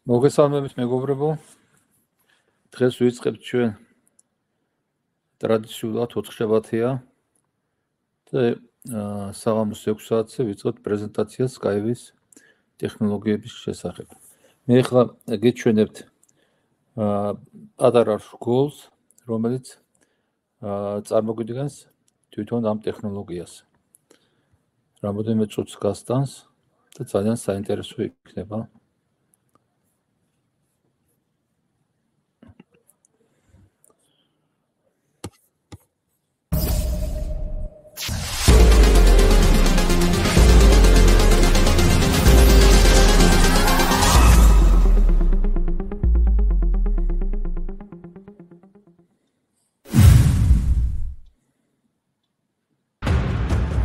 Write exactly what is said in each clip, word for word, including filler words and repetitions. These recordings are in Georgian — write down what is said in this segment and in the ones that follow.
მოგესალმებით მეგობრებო. დღეს ვიწყებთ ჩვენ ტრადიციულად ოთხშაბათია და საღამოს ექვს საათზე ვიწყებთ პრეზენტაციას Skype-ის ტექნოლოგიების შესახებ. მე ახლა გეჩვენებთ პატარა რგოლს, რომელიც წარმოგვიდგენს თვითონ ამ ტექნოლოგიას. რამოდენიმე წუთს გასტანს და ძალიან საინტერესო იქნება.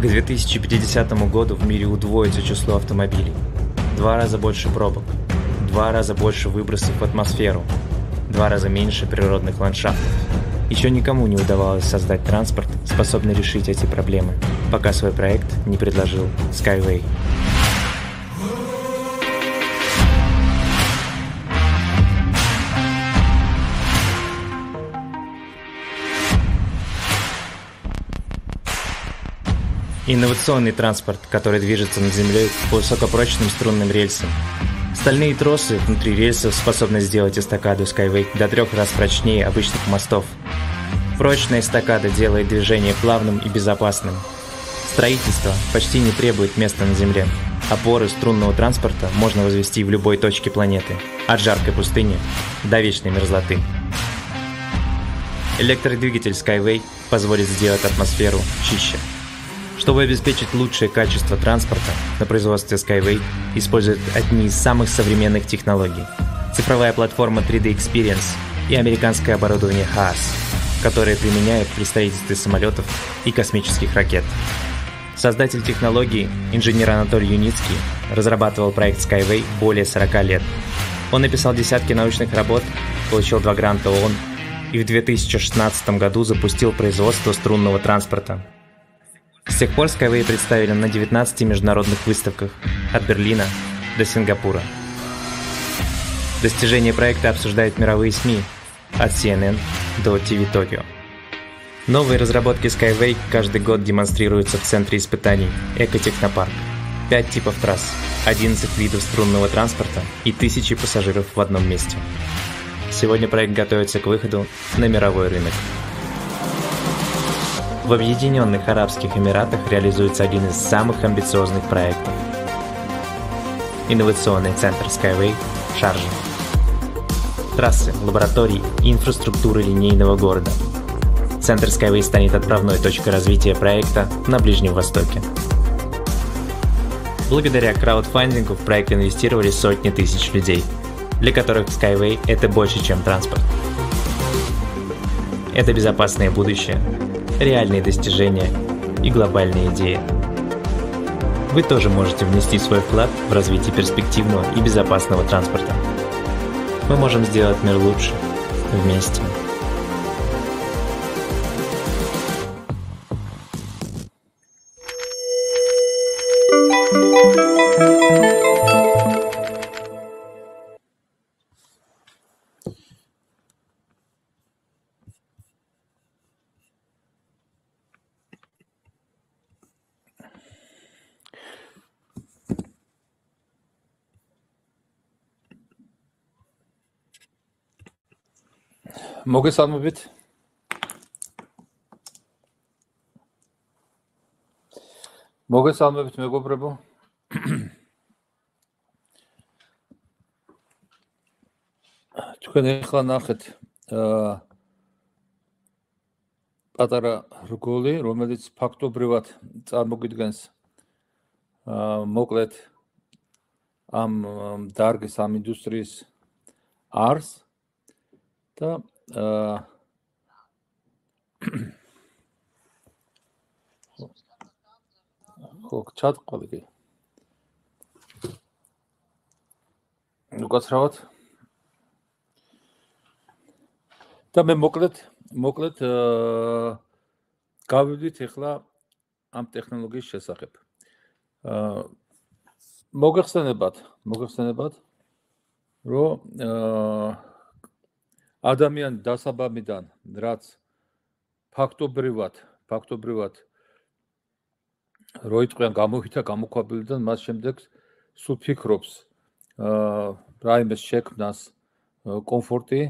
К две тысячи пятидесятому году в мире удвоится число автомобилей. Два раза больше пробок, два раза больше выбросов в атмосферу, два раза меньше природных ландшафтов. Еще никому не удавалось создать транспорт, способный решить эти проблемы, пока свой проект не предложил Skyway. Инновационный транспорт, который движется над землей по высокопрочным струнным рельсам. Стальные тросы внутри рельсов способны сделать эстакаду Skyway до трех раз прочнее обычных мостов. Прочная эстакада делает движение плавным и безопасным. Строительство почти не требует места на земле. Опоры струнного транспорта можно возвести в любой точке планеты, от жаркой пустыни до вечной мерзлоты. Электродвигатель Skyway позволит сделать атмосферу чище. Чтобы обеспечить лучшее качество транспорта, на производстве Skyway используют одни из самых современных технологий. Цифровая платформа три дэ Experience и американское оборудование хаас, которое применяют при строительстве самолетов и космических ракет. Создатель технологии, инженер Анатолий Юницкий, разрабатывал проект Skyway более сорока лет. Он написал десятки научных работ, получил два гранта ООН и в две тысячи шестнадцатом году запустил производство струнного транспорта. С тех пор Skyway представили на девятнадцати международных выставках, от Берлина до Сингапура. Достижения проекта обсуждают мировые СМИ, от си эн эн до ти ви Tokyo. Новые разработки Skyway каждый год демонстрируются в центре испытаний Экотехнопарк. Пять типов трасс, одиннадцать видов струнного транспорта и тысячи пассажиров в одном месте. Сегодня проект готовится к выходу на мировой рынок. В Объединенных Арабских Эмиратах реализуется один из самых амбициозных проектов. Инновационный центр Skyway в Шарже. Трассы, лаборатории и инфраструктура линейного города. Центр Skyway станет отправной точкой развития проекта на Ближнем Востоке. Благодаря краудфандингу в проект инвестировали сотни тысяч людей, для которых Skyway – это больше, чем транспорт. Это безопасное будущее, реальные достижения и глобальные идеи. Вы тоже можете внести свой вклад в развитие перспективного и безопасного транспорта. Мы можем сделать мир лучше вместе. მოგესალმებით. მოგესალმებით მეგობრებო. თქვენ ახლა ნახეთ პატარა რგოლი, რომელიც ფაქტობრივად წარმოგვიდგენს მოკლედ ამ დარგის, ამ ინდუსტრიის არს და ხო, ჩატყოლი კი. უკაცრავად. და მე მოკლედ, მოკლედ გავიდით ახლა ამ ტექნოლოგიის შესახებ. მოგეხსენებათ, მოგეხსენებათ რომ ადამიანი დასაბამიდან, რაც ფაქტობრივად, ფაქტობრივად რო იტყვიან გამოვითა გამოქვაბულიდან, მას შემდეგ სულ ფიქრობს რაიმეს შექმნას კომფორტი,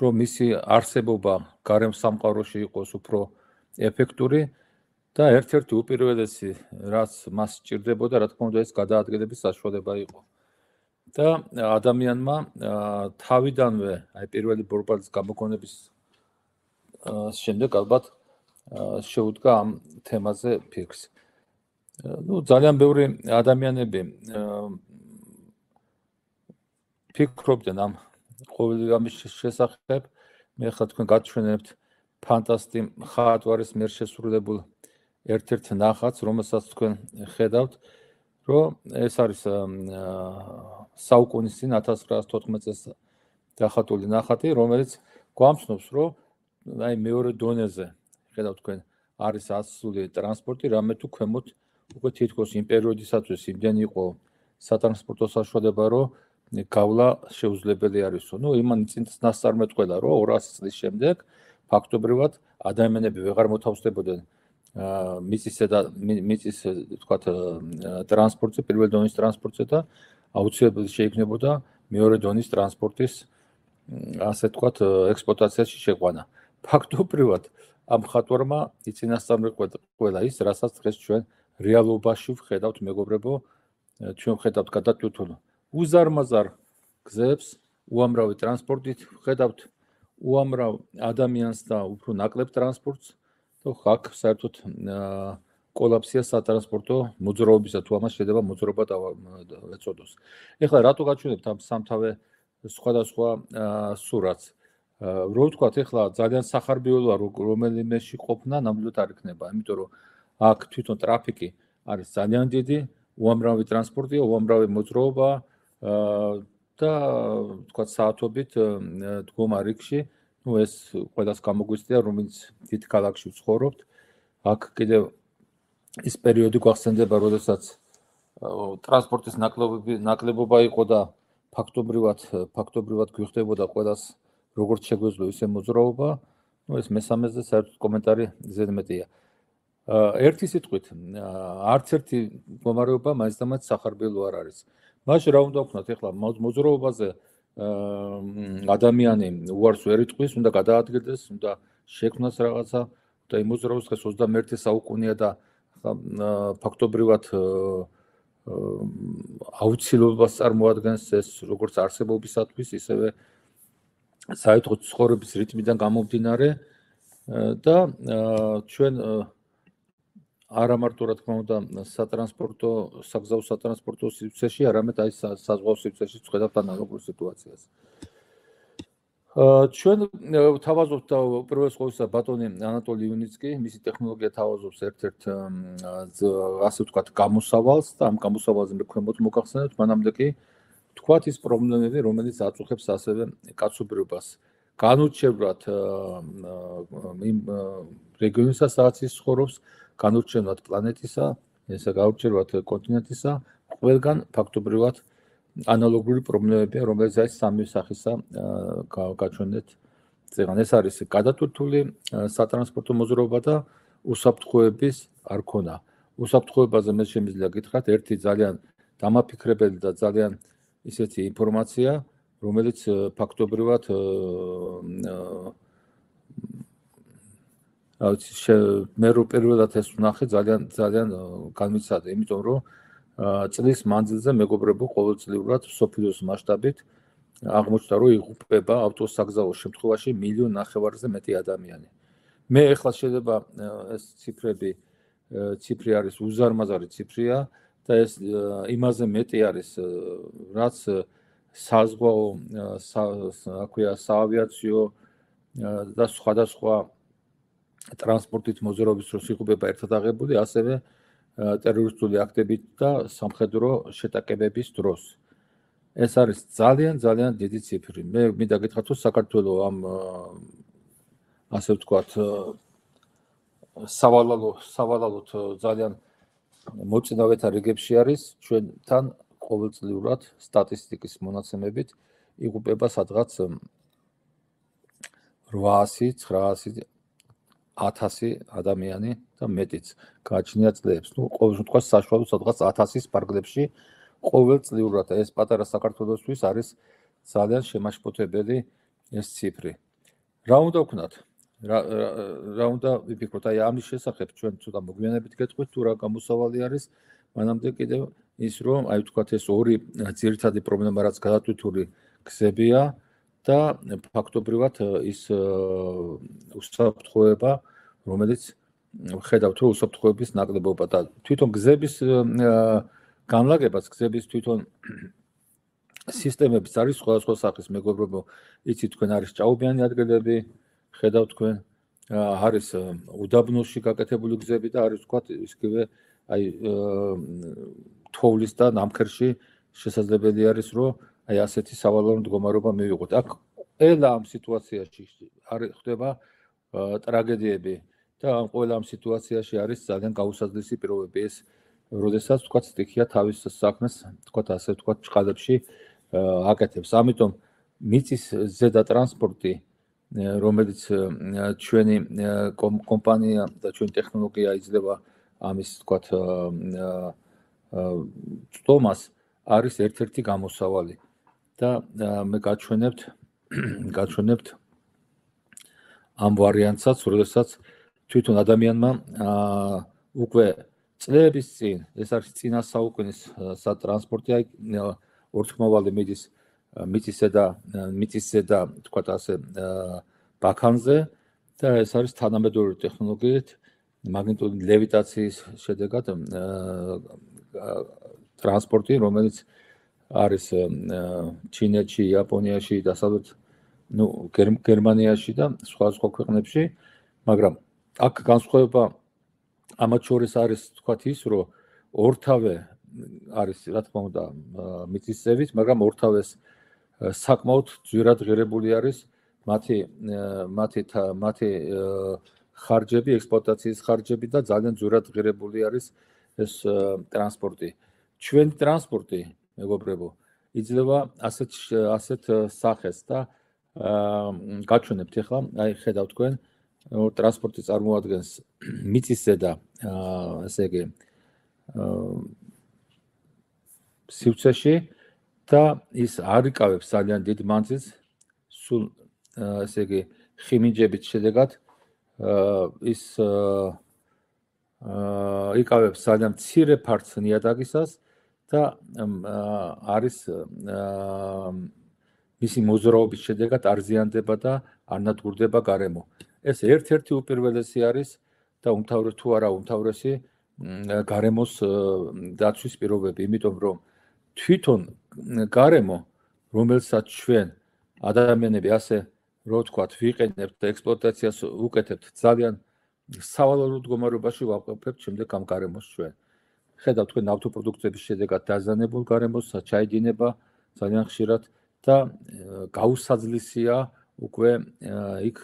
რომ მისი არსებობა გარემ სამყაროში იყოს უფრო ეფექტური და ერთ-ერთი უპირველესი, რაც მას სჭირდებოდა, რა თქმა უნდა, ეს გადაადგილების საშუალება იყო. და ადამიანმა თავიდანვე, აი პირველი ბორბალის გამოგონების შემდეგ ალბათ შეუდგა ამ თემაზე ფიქრს. ნუ ძალიან ბევრი ადამიანები ფიქრობდნენ ამ ყოველი რამის შესახებ. მე ხა თქვენ გაჩვენებთ ფანტასტი მხატვარის მიერ შესრულებულ ერთ-ერთ ნახატს, რომელსაც თქვენ ხედავთ, რომ ეს არის საუკუნის წინ ათას ცხრაას თოთხმეტ წელს დახატული ნახატი, რომელიც გვამცნობს, რომ აი მეორე დონეზე ხედავთ თქვენ არის ასული ტრანსპორტი, რამე თუ ქვემოთ უკვე თითქოს იმ პერიოდისათვის იმდენი იყო სატრანსპორტო საშუალება, რომ გავლა შეუძლებელი არისო. ნუ იმან წინ ნასწარმეტყველა, რომ ორასი წლის შემდეგ ფაქტობრივად ადამიანები ვეღარ მოთავსდებოდნენ მიწისზე და მიწის თქვათ ტრანსპორტზე, პირველ დონის ტრანსპორტზე და აუცილებლად შეიქმნებოდა მეორე დონის ტრანსპორტის ასე თქვათ ექსპლუატაციაში შეყვანა. ფაქტობრივად ამ მხატვარმა იწინასწარმეტყველა ის, რასაც დღეს ჩვენ რეალობაში ვხედავთ, მეგობრებო, ჩვენ ვხედავთ გადატვირთულ უზარმაზარ გზებს, უამრავი ტრანსპორტით, ვხედავთ უამრავ ადამიანს და უფრო ნაკლებ ტრანსპორტს და ხაკ საერთოდ კოლაფსია სატრანსპორტო მოძრაობისა, თუ ამას შეიძლება მოძრაობა ეწოდოს. ეხლა რატო გაჩვენებთ ამ სამთავე სხვადასხვა სურათს? რო ვთქვათ, ეხლა ძალიან სახარბიელოა რომელიმეში ყოფნა ნამდვილად არ იქნება, იმიტომ რომ აქ თვითონ ტრაფიკი არის ძალიან დიდი, უამრავი ტრანსპორტია, უამრავი მოძრაობა და თქვათ საათობით დგომა რიგში. ნუ ეს ყველას გამოგვიცდია, რომელიც დიდ ქალაქში ვცხოვრობთ. აქ კიდევ ის პერიოდი გვახსენდება, როდესაც ტრანსპორტის ნაკლებობა იყო და ფაქტობრივად ფაქტობრივად გვიხდებოდა ყველას როგორც შეგვეძლო ისე მოძრაობა. ნუ ეს მესამეზე საერთოდ კომენტარი ზედმეტია. ერთი სიტყვით, არც ერთი მდგომარეობა მაინც და მაინც სახარბიელო არ არის. მაშინ რა უნდა ვქნათ ეხლა მოძრაობაზე ადამიანი უარს ვერ იტყვის, უნდა გადაადგილდეს, უნდა შექმნას რაღაცა და იმ მოძრაობას დღეს ოცდამეერთე საუკუნეა და ფაქტობრივად აუცილებლობას წარმოადგენს ეს როგორც არსებობისათვის, ისევე საერთოდ ცხოვრების რიტმიდან გამომდინარე და ჩვენ არა მარტო რა თქმა უნდა სატრანსპორტო, საგზაო სატრანსპორტო სივრცეში, არამედ აი საზღვაო სივრცეში ვხედავთ ანალოგურ სიტუაციას. ჩვენ თავაზობთ და უპირველეს ყოვლისა ბატონი ანატოლი იუნიცკი, მისი ტექნოლოგია თავაზობს ერთ-ერთ ასე ვთქვათ გამოსავალს და ამ გამოსავალზე მე ქვემოთ მოგახსენებთ, მანამდე კი თქვათ ის პრობლემები, რომელიც აწუხებს ასევე კაცობრიობას. განურჩევლად იმ რეგიონისა, სადაც ის ცხოვრობს, განურჩევლად პლანეტისა, ესა გაურჩევლად კონტინენტისა, ყველგან ფაქტობრივად ანალოგური პრობლემებია, რომელიც აი სამი სახისა გაჩვენეთ წეგან. ეს არის გადატვირთული სატრანსპორტო მოძრაობა და უსაფრთხოების არქონა. უსაფრთხოებაზე მე შემიძლია გითხრათ ერთი ძალიან დამაფიქრებელი და ძალიან ისეთი ინფორმაცია, რომელიც ფაქტობრივად მე რო პირველად ეს ვნახე ძალიან ძალიან განმიცადე, იმიტომ რომ წლის მანძილზე მეგობრებო ყოველწლიურად სოფლიოს მასშტაბით აღმოჩნდა, რომ იღუპება ავტოსაგზაო შემთხვევაში მილიონ ნახევარზე მეტი ადამიანი. მე ახლა შეიძლება ეს ციფრები ციფრი არის უზარმაზარი ციფრია და ეს იმაზე მეტი არის, რაც საზღვაო, აქვეა საავიაციო და სხვადასხვა ტრანსპორტით მოძრაობის დროს იღუპება ერთად აღებული, ასევე ტერორისტული აქტებით და სამხედრო შეტაკებების დროს. ეს არის ძალიან ძალიან დიდი ციფრი. მე მინდა გითხრათ, რომ საქართველოს ამ ასე ვთქვათ სავალალო სავალალოდ ძალიან მოწინავეთა რიგებში არის, ჩვენთან ყოველწლიურად სტატისტიკის მონაცემებით იღუპება სადღაც რვაასი, ცხრაასი, ათასი ადამიანი და მეტიც გააჩნია წლებს. ნუ ყოველ შემთხვევაში საშუალო სადღაც ათასის პარკლებში ყოველწლიურად ეს პატარა საქართველოსთვის არის ძალიან შემაშფოთებელი ეს ციფრი. რა უნდა ვქნათ? რა რა უნდა ვიფიქროთ? აი ამის შესახებ ჩვენ ცოტა მოგვიანებით გეტყვით თუ რა გამოსავალი არის. მანამდე კიდევ ის რომ აი ვთქვათ ეს ორი ძირითადი პრობლემა რაც გადატვირთული გზებია და ფაქტობრივად ის უსაფრთხოება, რომელიც ხედავთ რომ უსაფრთხოების ნაკლებობა და თვითონ გზების განლაგებას, გზების თვითონ სისტემების არის სხვადასხვა სახის მეგობრებო, იცით თქვენ არის ჭაობიანი ადგილები, ხედავთ თქვენ არის უდაბნოში გაკეთებული გზები და არის ვთქვათ ისევე აი თოვლის და ნამქერში შესაძლებელი არის რომ აი ასეთი სავალალო მდგომარეობა მივიღოთ. აქ ყველა ამ სიტუაციაში არის ხდება ტრაგედიები და ამ ყველა ამ სიტუაციაში არის ძალიან გაუსაზღვრელი პირობები. ეს როდესაც ვთქვათ სტიქია თავის საქმეს ვთქვათ ასე ვთქვათ ჭყალებში აკეთებს. ამიტომ მიწის ზედა ტრანსპორტი რომელიც ჩვენი კომპანია და ჩვენი ტექნოლოგია იძლევა ამის ვთქვათ წტომას არის ერთ-ერთი გამოსავალი და მე გაჩვენებთ გაჩვენებთ ამ ვარიანტსაც, როდესაც თვითონ ადამიანმა უკვე წლების წინ ეს არის წინა საუკუნის სატრანსპორტი აი ორთქმავალი მიდის მიწისზედა მიწისზედა თქვათ ასე ბაქანზე და ეს არის თანამედროვე ტექნოლოგიით მაგნიტური ლევიტაციის შედეგად ტრანსპორტი, რომელიც არის ჩინეთში, იაპონიაში, დასავლეთ ნუ გერმანიაში და სხვა სხვა ქვეყნებში, მაგრამ აქ განსხვავება ამათ შორის არის თქვათ ის, რომ ორთავე არის რა თქმა უნდა მიწისზევით, მაგრამ ორთავეს საკმაოდ ძვირად ღირებული არის მათი მათი მათი ხარჯები, ექსპლუატაციის ხარჯები და ძალიან ძვირად ღირებული არის ეს ტრანსპორტი. ჩვენი ტრანსპორტი, მეგობრებო, იძლევა ასეთ ასეთ სახეს და გაჩვენებთ ახლა, აი ხედავთ თქვენ, ტრანსპორტი წარმოადგენს მიწისზედა, ესე იგი, სივრცეში და ის არ იკავებს ძალიან დიდ მანძილს, სულ ესე იგი, ხიმიჯებით შედეგად ის იკავებს ძალიან მცირე ფართს ნიადაგისას და არის მისი მოძრაობის შედეგად არ ზიანდება და არ ნადგურდება გარემო. ეს ერთ-ერთი უპირველესი არის და უმთავრესი თუ არა უმთავრესი გარემოს დაცვის პირობები, იმიტომ რომ თვითონ გარემო, რომელსაც ჩვენ ადამიანები ასე რო ვთქვათ, ვიყენებთ და ექსპლუატაციას უკეთებთ ძალიან სავალალო მდგომარეობაში ვავყოფებთ შემდეგ ამ გარემოს ჩვენ. ხედავთ თქვენ ნავთობპროდუქტების შედეგად დაზიანებულ გარემოს, ჩაიდინება ძალიან ხშირად და გაუსაძლისია უკვე იქ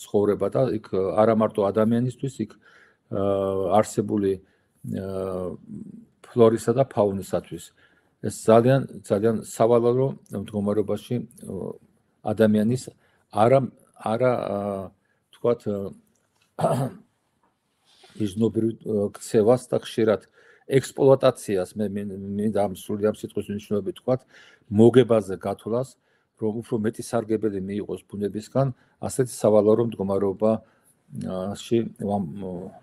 ცხოვრება და იქ არა მარტო ადამიანისთვის, იქ არსებული ფლორისა და ფაუნისათვის. ეს ძალიან ძალიან სავალალო მდგომარეობაში ადამიანის არა არა თქვათ იზნობრივ ქცევას და ხშირად ექსპლუატაციას მე მინდა ამ სრული ამ სიტყვის მნიშვნელობით თქვათ მოგებაზე გათვლას, რომ უფრო მეტი სარგებელი მიიღოს ბუნებისგან, ასეთი სავალალო მდგომარეობაში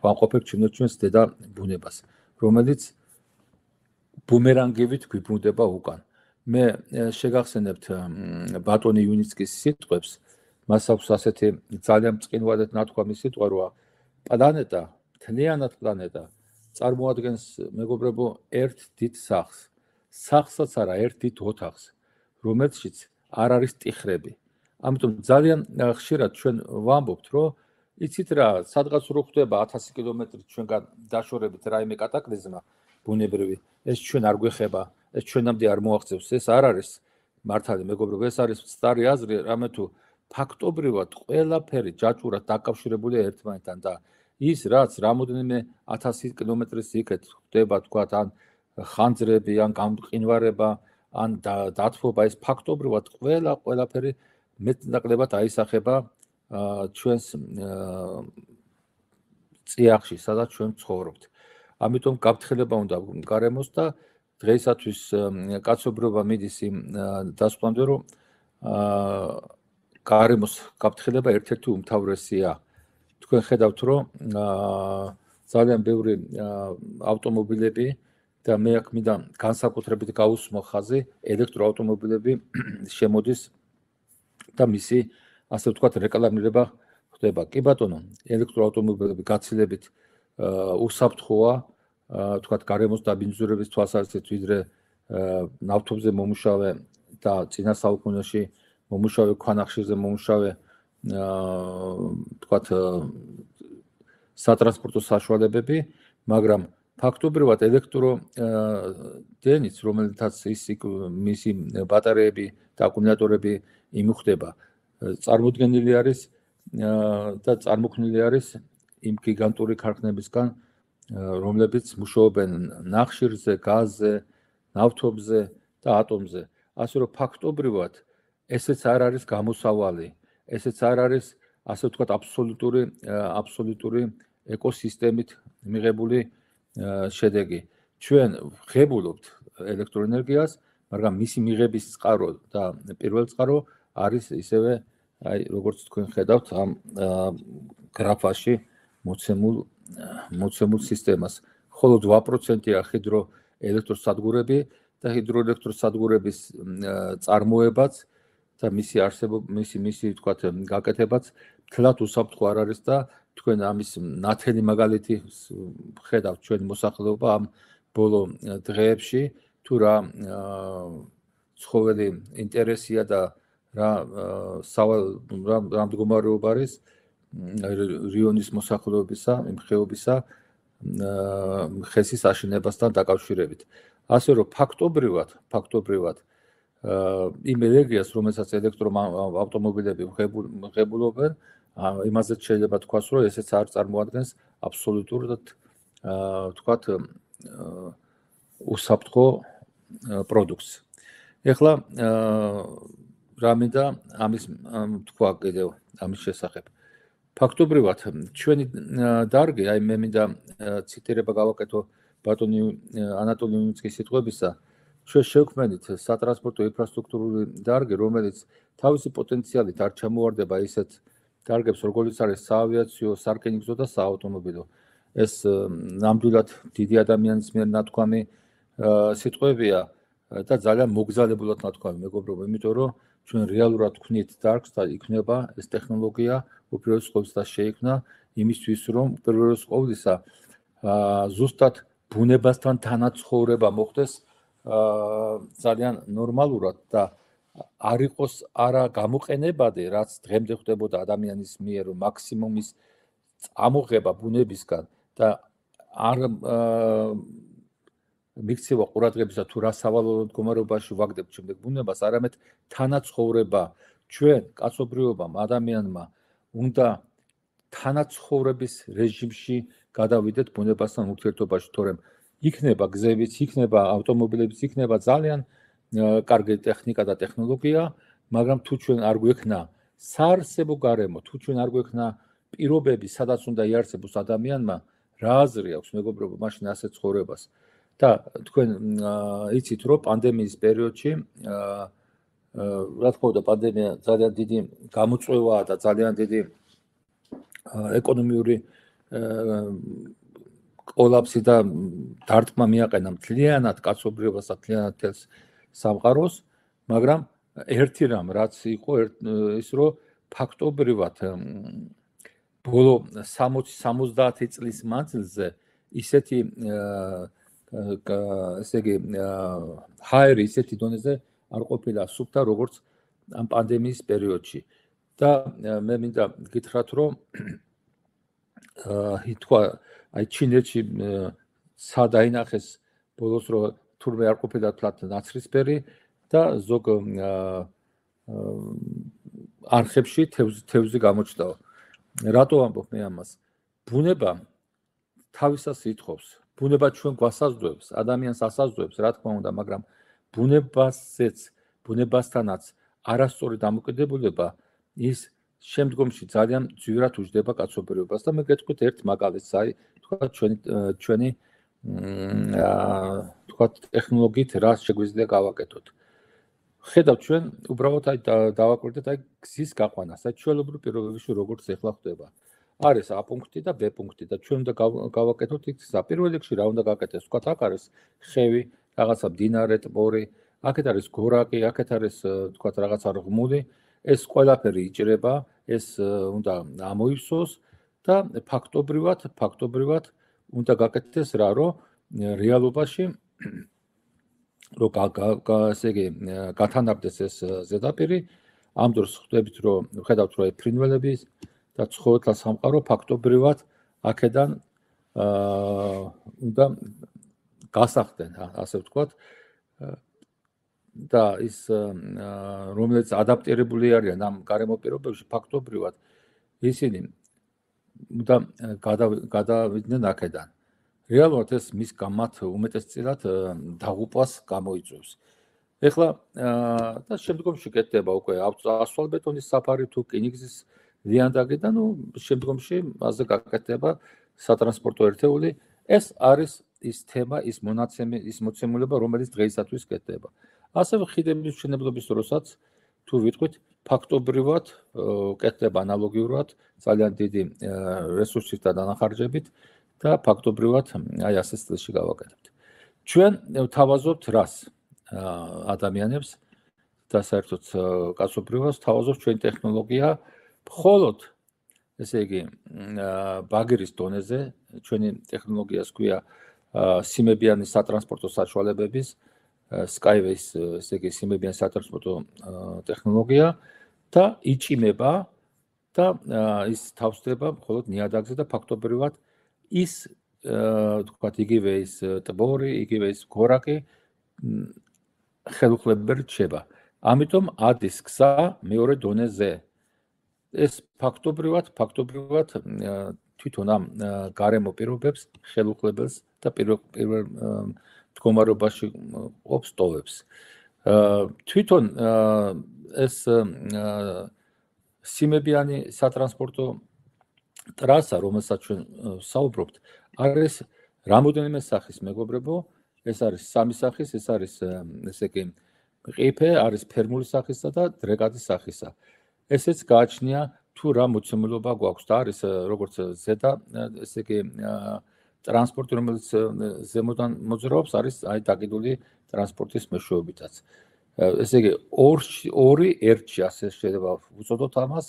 ვამყოფებ ჩვენს დედა ბუნებას, რომელიც ბუმერანგივით გვიბრუნდება უკან. მე შეგახსენებთ ბატონი იუნიცკის სიტყვებს, მას აქვს ასეთი ძალიან მწყინვალედ ნათქვამი სიტყვა, რომ პლანეტა, მთლიანად პლანეტა წარმოადგენს მეგობრებო ერთ დიდ სახლს. სახლსაც არა, ერთ დიდ ოთახს, რომელშიც არ არის ტიხრები. ამიტომ ძალიან ხშირად ჩვენ ვამბობთ, რომ იცით რა, სადღაც რო ხდება ათასი კილომეტრი ჩვენგან დაშორებით რაიმე კატაკლიზმა ბუნებრივი, ეს ჩვენ არ გვეხება, ეს ჩვენამდე არ მოაღწევს, ეს არ არის მართალი მეგობრებო, ეს არის სწარი აზრი, რამე თუ ფაქტობრივად ყველაფერი ჯაჭვურად დაკავშირებულია ერთმანეთთან და ის რაც რამოდენიმე ათასი კილომეტრის იქეთ ხდება თქვათ ან ხანძრები ან გამყინვარება ან დათბობა ეს ფაქტობრივად ყველა ყველაფერი მეტნაკლებად აისახება ჩვენს წიაღში, სადაც ჩვენ ცხოვრობთ. ამიტომ გაფრთხილება უნდა გარემოს და დღეისათვის კაცობრიობა მიდის იმ დასკვნამდე, რომ გარემოს გაფრთხილება ერთ-ერთი უმთავრესია. თქვენ ხედავთ, რომ ძალიან ბევრი ავტომობილები და მე აქ მინდა განსაკუთრებით გაუსმო ხაზი ელექტროავტომობილები შემოდის და მისი ასე ვთქვათ რეკლამირება ხდება. კი ბატონო, ელექტროავტომობილები გაცილებით უსაფრთხოა, ვთქვათ გარემოს დაბინძურების თვალსაზრისით, ვიდრე ნავთობზე მომუშავე და წინა საუკუნეში მომუშავე ქვანახშირზე მომუშავე ვთქვათ სატრანსპორტო საშუალებები, მაგრამ ფაქტობრივად ელექტრო დენიც, რომელთაც ის მისი ბატარეები და აკუმულატორები იმუხდება, წარმოდგენილი არის და წარმოქმნილი არის იმ გიგანტური ქარხნებისგან, რომლებიც მუშაობენ ნახშირზე, გაზზე, ნავთობზე და ატომზე. ასე რომ ფაქტობრივად ესეც არ არის გამოსავალი, ესეც არ არის ასე ვთქვათ აბსოლუტური აბსოლუტური ეკოსისტემით მიღებული შედეგი. ჩვენ ვღებულობთ ელექტროენერგიას, მაგრამ მისი მიღების წყარო და პირველ წყარო არის ისევე, აი როგორც თქვენ ხედავთ ამ გრაფაში მოცემულ მოცემულ სისტემას. ხოლო два პროცენტია ჰიდროელექტროსადგურები და ჰიდროელექტროსადგურების წარმოებაც და მისი არსებობა, მისი მისი ვთქვათ გაკეთებაც თლათ უსაფრთხო არ არის და თქვენ ამის ნათელი მაგალითი ხედავთ ჩვენი მოსახლეობა ამ ბოლო დღეებში, თუ რა ცხოველი ინტერესია და რა სავალ რა მდგომარეობა არის რიონის მოსახლეობისა, იმ ხეობისა ხესის აშენებასთან დაკავშირებით. ასე რომ ფაქტობრივად, ფაქტობრივად იმ ენერგიას, რომელსაც ელექტროავტომობილები ვღებულობენ, იმაზეც შეიძლება თქვას, რომ ესეც არ წარმოადგენს აბსოლუტურად ვთქვათ უსაფრთხო პროდუქტს. ეხლა რა მინდა ამის თქვა კიდევ ამის შესახებ. ფაქტობრივად ჩვენი დარგი, აი მე მინდა ციტირება გავაკეთო ბატონი ანატოლი ნინიცკის სიტყვებისა, ჩვენ შევქმნით სატრანსპორტო ინფრასტრუქტურული დარგი, რომელიც თავისი პოტენციალით არ ჩამოვარდება ისეთ დარგებს, როგორც არის საავიაციო, სარკინიგზო და საავტომობილო. ეს ნამდვილად დიდი ადამიანის მიერ ნათქვამი სიტყვებია და ძალიან მოგზალებულად ნათქვამი, მეგობრებო, იმიტომ რომ ჩვენ რეალურად ვქნით დარგს და იქნება ეს ტექნოლოგია უპირველეს ყოვლისა შეიქმნა იმისთვის, რომ უპირველეს ყოვლისა ზუსტად ბუნებასთან თანაცხოვრება მოხდეს ძალიან ნორმალურად და არ იყოს არა გამოყენებადი, რაც დღემდე ხდებოდა ადამიანის მიერ, რომ მაქსიმუმის წამოღება ბუნებისგან და არ მიქცევა ყურადღებისა თუ რა სავალალო მდგომარეობაში ვაგდებთ შემდეგ ბუნებას, არამედ თანაცხოვრება ჩვენ კაცობრიობამ, ადამიანმა უნდა თანაცხოვრების რეჟიმში გადავიდეთ ბუნებასთან ურთიერთობაში, თორემ იქნება გზებიც, იქნება ავტომობილებიც, იქნება ძალიან კარგი ტექნიკა და ტექნოლოგია, მაგრამ თუ ჩვენ არ გვექნა საარსებო გარემო, თუ ჩვენ არ გვექნა პირობები, სადაც უნდა იარსებოს ადამიანმა, რა აზრი აქვს მეგობრებო, მაშინ ასეთ ცხოვრებას. და თქვენ იცით, რომ პანდემიის პერიოდში, რა თქმა უნდა, პანდემია ძალიან დიდი გამოწვევაა და ძალიან დიდი ეკონომიური კოლაფსი და დარტყმა მიაყენა მთლიანად კაცობრიობას და მთლიანად თელს სამყაროს, მაგრამ ერთი რამ რაც იყო ის, რომ ფაქტობრივად ბოლო სამოცი სამოცდაათი წლის მანძილზე ისეთი ესე იგი ჰაერი ისეთი დონეზე არ ყოფილა სუფთა, როგორც ამ პანდემიის პერიოდში. და მე მინდა გითხრათ, რომ თქვა, აი ჩინეთში სადაინახეს ბოლოს, რომ თურმე არ ყოფილა თლათ ნაცრისფერი და ზოგ არხებში თევზი გამოჩნდა. რატო ამბობ მე ამას? ბუნება თავისას ითხოვს, ბუნება ჩვენ გვასაზრდოებს, ადამიანს ასაზრდოებს, რა თქმა უნდა, მაგრამ ბუნებასეც, ბუნებასთანაც არასწორი დამოკიდებულება ის შემდგომში ძალიან ძვირად უჯდება კაცობრიობას და მე გეტყვით ერთ მაგალითს, აი, თქვა ჩვენი ჩვენი თქვა ტექნოლოგიით რა შეგვიძლია გავაკეთოთ. ხედავთ ჩვენ უბრალოდ აი დავაკვირდეთ აი გზის გაყვანას, აი ჩვეულებრივ პირობებში როგორც ეხლა ხდება. არის A პუნქტი და B პუნქტი და ჩვენ უნდა გავაკეთოთ იქ პირველ რიგში რა უნდა გაკეთდეს, თქვა აქ არის ხევი, რაღაცა მდინარე, ტბორი, აქეთ არის გორაკი, აქეთ არის თქვა რაღაცა ღმული, ეს ყველაფერი იჭრება, ეს უნდა ამოივსოს და ფაქტობრივად, ფაქტობრივად უნდა გაკეთდეს რა, რომ რეალობაში რო ესე იგი გათანაბდეს ეს ზედაპირი, ამ დროს ხვდებით, რომ ხედავთ, რომ ფრინველების და ცხოველთა სამყარო ფაქტობრივად აქედან უნდა გასახდნენ, ასე ვთქვათ. და ის რომელიც ადაპტირებული არიან ამ გარემო პირობებში, ფაქტობრივად ისინი უნდა გადავიდნენ აქედან. რეალურად ეს მის გამათ უმეტესწილად დაღუპვას გამოიწვევს. ეხლა და შემდგომში კეთდება უკვე ასფალტბეტონის საფარი თუ რკინიგზის ლიანდაგი და ნუ შემდგომში მასზე გაკეთდება სატრანსპორტო ერთეული. ეს არის ის თემა, ის მონაცემი, ის მოცემულობა, რომელიც დღეისათვის კეთდება. ასევე ხიდების მშენებლობის დროსაც თუ ვიტყვით, ფაქტობრივად კეთდება ანალოგიურად ძალიან დიდი რესურსით და დანახარჯებით და ფაქტობრივად აი ასე სტილში გავაკეთებთ. ჩვენ ვთავაზობთ რას ადამიანებს და საერთოდ კაცობრიობას ვთავაზობთ ჩვენი ტექნოლოგია მხოლოდ ესე იგი ბაგერის დონეზე, ჩვენი ტექნოლოგიას ქვია სიმებიანი სატრანსპორტო საშუალებების Skyways, ესე იგი სიმებიანი სატრანსპორტო ტექნოლოგია და იჭიმება და ის თავსდება მხოლოდ ნიადაგზე და ფაქტობრივად ის თქვათ იგივე ის ტბორი, იგივე ის გორაკი ხელუხლებრივ რჩება. ამიტომ ადის გზა მეორე დონეზე. ეს ფაქტობრივად, ფაქტობრივად თვითონ ამ გარემო პირობებს ხელუხლებელს და პირველ მდგომარეობაში ყოფს ტოვებს. თვითონ ეს სიმებიანი სატრანსპორტო ტრასა, რომელსაც ჩვენ საუბრობთ, არის რამოდენიმე სახის, მეგობრებო, ეს არის სამი სახის, ეს არის ესე იგი ყიფე, არის ფერმული სახისა და დრეკადის სახისა. ესეც გააჩნია თუ რა მოცემულობა გვაქვს და არის როგორც ზედა ესე იგი ტრანსპორტი, რომელიც ზემოდან მოძრაობს, არის აი დაკიდული ტრანსპორტის მეშვეობითაც. ესე იგი ორი ერთში ასე შეიძლება ვუწოდოთ ამას,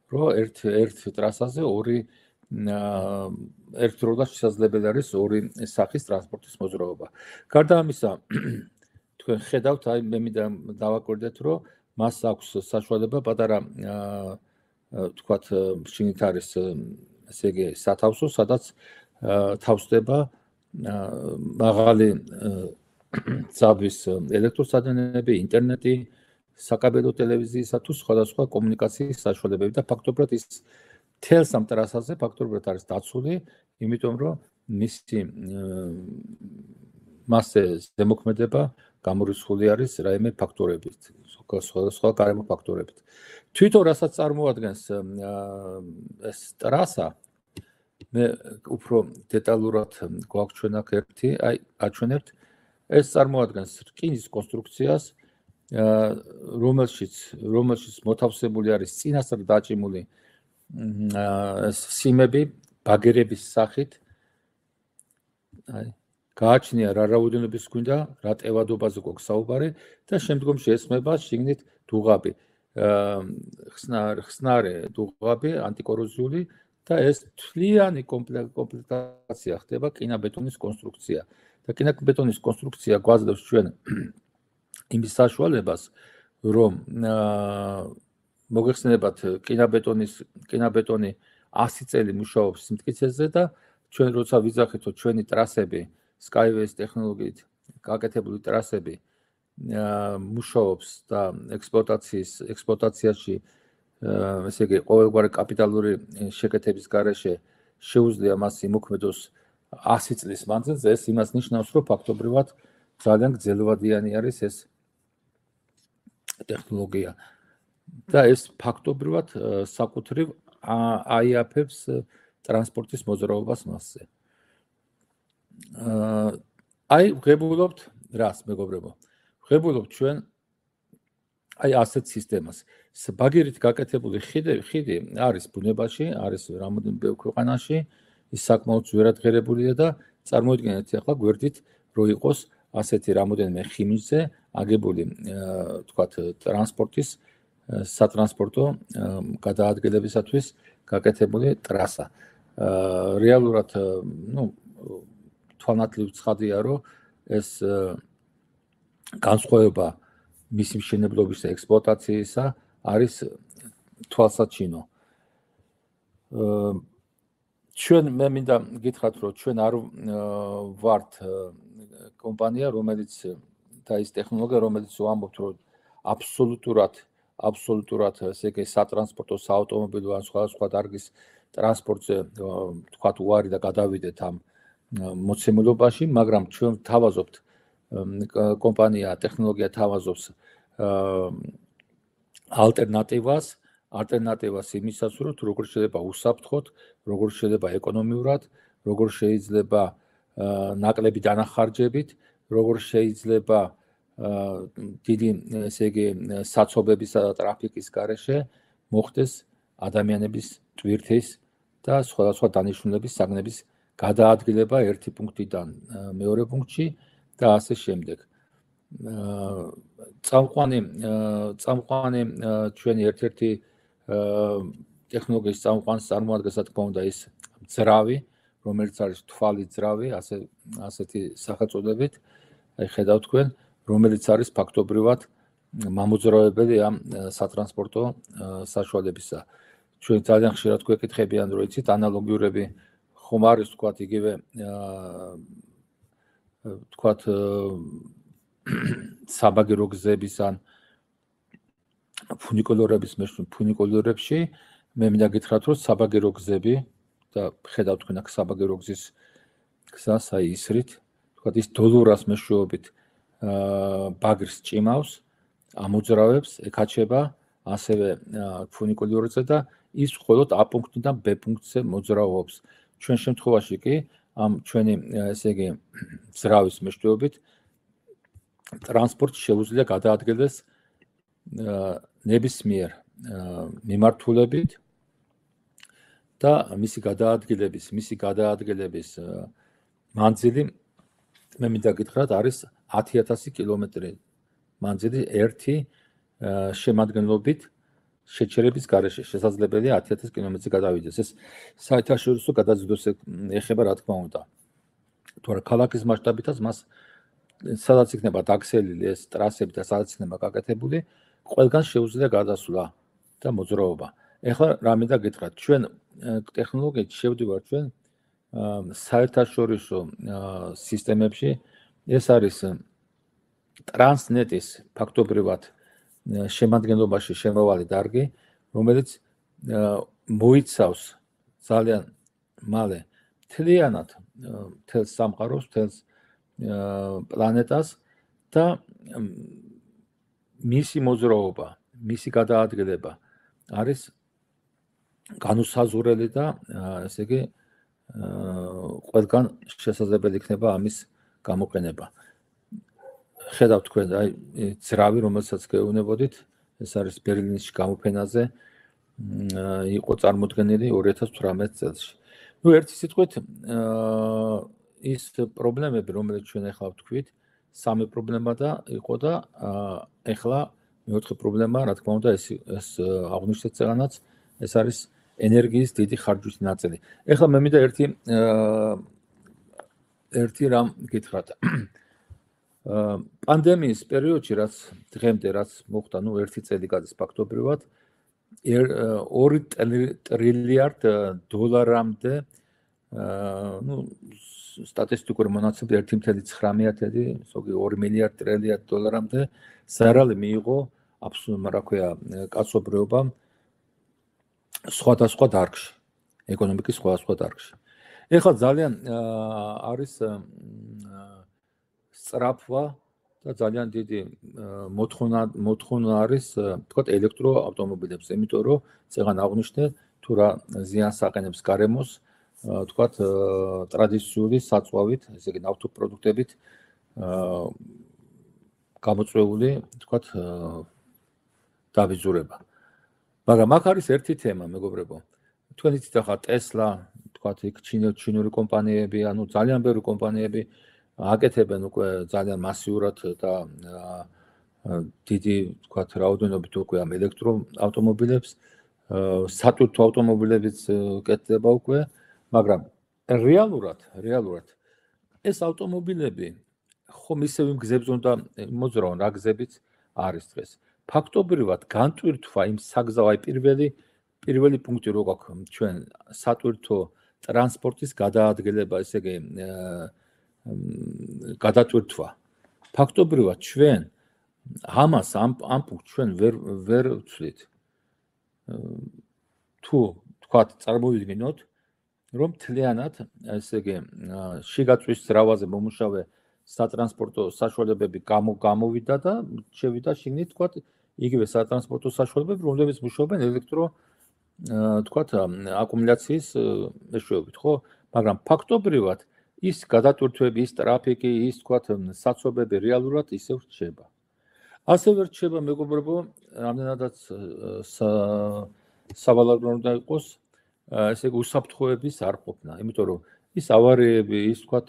რომ ერთ ერთ ტრასაზე ორი ერთდროულად შესაძლებელი არის ორი სახის ტრანსპორტის მოძრაობა. გარდა ამისა, თქვენ ხედავთ, აი მე მინდა დავაკვირდეთ, რომ მას აქვს საშუალება პატარა თქვათ შინით არის ესე იგი სათავსო, სადაც თავსდება მაღალი ძაბვის ელექტროსადგურები, ინტერნეტი, საკაბელო ტელევიზიისა თუ სხვადასხვა კომუნიკაციის საშუალებები და ფაქტობრივად ის თელს ამ ტრასაზე ფაქტობრივად არის დაცული, იმიტომ რომ მისი მასზე ზემოქმედება გამორიცხული არის რაიმე ფაქტორებით, სხვა გარემო ფაქტორებით. თვითონ რასაც წარმოადგენს ეს ტრასა, მე უფრო დეტალურად გვაქვს ჩვენ აქ ერთი, აი აჩვენებთ, ეს წარმოადგენს რკინის კონსტრუქციას, რომელშიც რომელშიც მოთავსებული არის წინასწარ დაჭიმული სიმები ბაგერების სახით. აი გააჩნია რა რაოდენობის გვინდა, რა ტევადობაზე გვაქვს საუბარი და შემდგომში ესმება შიგნით დუღაბი, ხსნარი დუღაბი, ანტიკოროზიული და ეს თლიანი კომპლექტაცია ხდება კინაბეტონის კონსტრუქცია. და კინაბეტონის კონსტრუქცია გვაძლევს ჩვენ იმის საშუალებას, რომ მოგეხსენებათ კინაბეტონის კინაბეტონი ასი წელი მუშაობს სიმტკიცეზე და ჩვენ როცა ვიძახითო ჩვენი ტრასები Skyways ტექნოლოგიით გაკეთებული ტრასები მუშაობს და ექსპლუატაციის ექსპლუატაციაში ესე იგი ყოველგვარი კაპიტალური შეკეთების გარეშე შეუძლია მას იმოქმედოს ასი წლის მანძილზე, ეს იმას ნიშნავს, რომ ფაქტობრივად ძალიან გრძელვადიანი არის ეს ტექნოლოგია. და ეს ფაქტობრივად საკუთრივ აიაფებს ტრანსპორტის მოძრაობას მასზე. აი, ვღებულობთ რას, მეგობრებო? ვღებულობთ ჩვენ აი ასეთ სისტემას. ბაგირით გაკეთებული ხიდი, ხიდი არის ბუნებაში, არის რამოდენიმე ბევრ ქვეყანაში, ის საკმაოდ ძვირადღირებულია და წარმოიდგინეთ ახლა გვერდით რო იყოს ასეთი რამოდენიმე ხიმისზე აგებული, თქვათ, ტრანსპორტის სატრანსპორტო გადაადგილებისათვის გაკეთებული ტრასა. რეალურად, ну, თვალნათლივ ცხადია, რომ ეს განსხვავება მისი მშენებლობისა და ექსპლუატაციისა არის თვალსაჩინო. ჩვენ მე მინდა გითხრათ, რომ ჩვენ არ ვართ კომპანია, რომელიც და ის ტექნოლოგია, რომელიც ვამბობთ, რომ აბსოლუტურად აბსოლუტურად ესე იგი სატრანსპორტო, საავტომობილო ან სხვადასხვა დარგის ტრანსპორტზე თქვათ უარი და გადავიდეთ ამ მოცემულობაში, მაგრამ ჩვენ თავაზობთ კომპანია, ტექნოლოგია თავაზობს ალტერნატივას, ალტერნატივას იმისას, რომ როგორ შეიძლება უსაფრთხოდ, როგორ შეიძლება ეკონომიურად, როგორ შეიძლება ნაკლები დანახარჯებით, როგორ შეიძლება დიდი ესე იგი საცობებისა და ტრაფიკის გარეშე მოხდეს ადამიანების ტვირთის და სხვადასხვა დანიშნულების საგნების გადაადგილება ერთი პუნქტიდან მეორე პუნქტში და ასე შემდეგ. წამყვანი წამყვანი ჩვენი ერთ-ერთი ტექნოლოგიის წამყვანს წარმოადგენს, რა თქმა უნდა, ის ძრავი, რომელიც არის თვალი ძრავი, ასე ასეთი სახელწოდებით, აი ხედავთ თქვენ, რომელიც არის ფაქტობრივად მამოძრავებელი ამ სატრანსპორტო საშუალებისა. ჩვენ ძალიან ხშირად გვეკითხებიან, რომ იცით, ანალოგიურები ხომ არის, თქვათ, იგივე თქვათ საბაგირო გზების ან ფუნიკულორების მეშვიდე ფუნიკულორებში მე მინდა გითხრათ, რომ საბაგირო გზები და ხედავთ თქვენ აქ საბაგირო გზის გზას, აი ისრით, თქვათ, ის დოლორას მეშვეობით ბაგრს ჭიმავს, ამოძრავებს, ეკაჩება ასევე ფუნიკულორზე და ის მხოლოდ A პუნქტიდან B პუნქტზე მოძრაობს. ჩვენ შემთხვევაში კი ამ ჩვენი ესე იგი ძრავის მეშვეობით ტრანსპორტი შეუძლია გადაადგილდეს ნებისმიერ მიმართულებით და მისი გადაადგილების, მისი გადაადგილების მანძილი მე მინდა გითხრათ არის ათი ათასი კილომეტრი მანძილი ერთი შემადგენლობით შეჩერების გარეშე შესაძლებელია ათი ათასი კილომეტრზე გადავიდეს. ეს საერთაშორისო გადაზიდვას ეხება, რა თქმა უნდა. თორე ქალაქის მასშტაბითაც მას სადაც იქნება დაგსელილი ეს ტრასები და სადაც იქნება გაკეთებული, ყველგან შეუძლია გადასვლა და მოძრაობა. ეხლა რა მინდა გითხრათ, ჩვენ ტექნოლოგიით შევდივართ ჩვენ საერთაშორისო სისტემებში, ეს არის ტრანსნეტის ფაქტობრივად შემადგენლობაში შემავალი დარგი, რომელიც მოიცავს ძალიან მალე მთლიანად მთელს სამყაროს, მთელს პლანეტას და მისი მოძრაობა, მისი გადაადგილება არის განუსაზღვრელი და ესე იგი ყველგან შესაძლებელი იქნება ამის გამოყენება. ხედავთ თქვენ, აი ძრავი, რომელსაც გეუბნებოდით, ეს არის ბერლინის გამოფენაზე იყო წარმოდგენილი ორი ათას თვრამეტ წელს. ნუ ერთი სიტყვით, ის პრობლემები, რომელიც ჩვენ ახლა ვთქვით, სამი პრობლემა და იყო და ახლა მეოთხე პრობლემა, რა თქმა უნდა, ეს ეს აღნიშნეთ წელანაც, ეს არის ენერგიის დიდი ხარჯვის ნაწილი. ახლა მე მინდა ერთი ერთი რამ გითხრათ. პანდემიის პერიოდში, რაც დღემდე რაც მოხდა, ნუ ერთი წელი გადის ფაქტობრივად, ორი ტრილიარდ დოლარამდე, ნუ სტატისტიკური მონაცემები ერთი წელი ცხრამეტი, ზოგი ორი მილიარდ ტრილიარდ დოლარამდე ზარალი მიიღო აბსოლუტურად, რა ქვია, კაცობრიობამ სხვადასხვა დარგში, ეკონომიკის სხვადასხვა დარგში. ეხლა ძალიან არის სწრაფვა და ძალიან დიდი მოთხოვნა მოთხოვნა არის თქვათ ელექტროავტომობილებზე, იმიტომ რომ წეგან აღვნიშნე თუ რა ზიანს აყენებს გარემოს, თქვათ ტრადიციული საწვავით, ესე იგი ნავთობპროდუქტებით გამოწვეული, თქვათ დავიზურება. მაგრამ აქ არის ერთი თემა, მეგობრებო. თქვენ იცით ახლა Tesla, თქვათ იქ ჩინური კომპანიები, ანუ ძალიან ბევრი კომპანიები აკეთებენ უკვე ძალიან მასიურად და დიდი, თქვათ, რაოდენობით უკვე ამ ელექტროავტომობილებს, სატვირთო ავტომობილებიც კეთდება უკვე, მაგრამ რეალურად, რეალურად ეს ავტომობილები ხომ ისევ იმ გზებზე უნდა მოძრაონ, რა გზებიც არის დღეს. ფაქტობრივად განტვირთვა იმ საგზაო აი პირველი პირველი პუნქტი რო გვაქვს ჩვენ სატვირთო ტრანსპორტის გადაადგილება, ესე იგი გადატვირთვა. ფაქტობრივად ჩვენ ამას ამ ამ პუნქტს ჩვენ ვერ ვერ ვცვლით. თუ თქვათ წარმოვიდგინოთ, რომ თლიანად, ესე იგი შიგაწვის ძრავაზე მომუშავე სატრანსპორტო საშუალებები გამოვიდა და შევიდა შიგნით, თქვათ, იგივე სატრანსპორტო საშუალებები, რომლებიც მუშაობენ ელექტრო, თქვათ, აკუმულაციის მეშვეობით, ხო? მაგრამ ფაქტობრივად ის გადატვირთვები, ის ტრაფიკი, ის, თქვათ, საცობები რეალურად ისევ რჩება. ასევე რჩება, მეგობრებო, რამდენადაც სავალალო უნდა იყოს, ესე იგი უსაფრთხოების არ ყოფნა, იმიტომ რომ ის ავარიები, ის, თქვათ,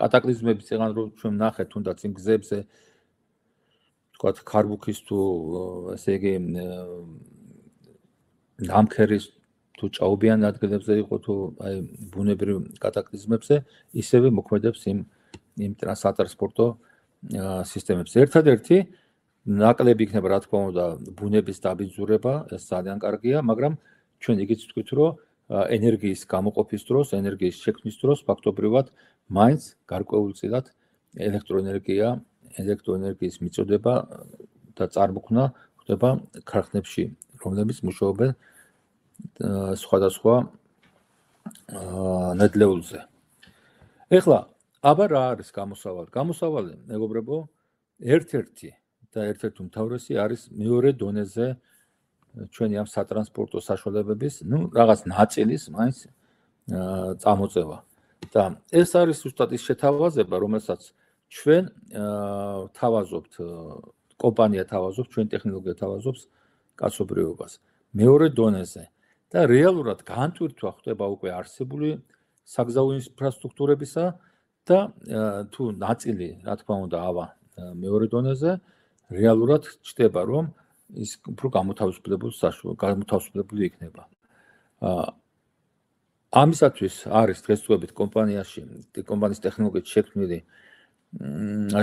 კატაკლიზმები წეგან რომ ჩვენ ნახეთ თუნდაც იმ გზებზე, თქვათ, ქარბუქის თუ, ესე იგი ნამქერის თუ ჭაობიან ადგილებზე იყო თუ აი ბუნებრივ კატაკლიზმებზე, ისევე მოქმედებს იმ იმ სატრანსპორტო სისტემებს. ერთადერთი ნაკლები იქნება, რა თქმა უნდა, ბუნების დაბინძურება, ეს ძალიან კარგია, მაგრამ ჩვენ იგიც ვთქვით, რომ ენერგიის გამოყოფის დროს, ენერგიის შექმნის დროს ფაქტობრივად მაინც გარკვეულწილად ელექტროენერგია, ელექტროენერგიის მიწოდება და წარმოქმნა ხდება ქარხნებში, რომლებიც მუშაობენ სხვადასხვა ნედლეულზე. ეხლა, აბა რა არის გამოსავალი? გამოსავალი, მეგობრებო, ერთ-ერთი და ერთ-ერთი უმთავრესი არის მეორე დონეზე ჩვენი ამ სატრანსპორტო საშუალებების, ну, რაღაც ნაწილის მაინც წამოწევა. და ეს არის ზუსტად ის შეთავაზება, რომელსაც ჩვენ თავაზობთ, კომპანია თავაზობს, ჩვენ ტექნოლოგია თავაზობს კაცობრიობას მეორე დონეზე. და რეალურად განტვირთვა ხდება უკვე არსებული საგზაო ინფრასტრუქტურებისა და თუ ნაწილი, რა თქმა უნდა, ავა მეორე დონეზე, რეალურად ჩნდება, რომ ის უფრო გამოთავისუფლებული გამოთავისუფლებული იქნება. ამისათვის არის დღესდღეობით კომპანიაში, კომპანიის ტექნოლოგიით შექმნილი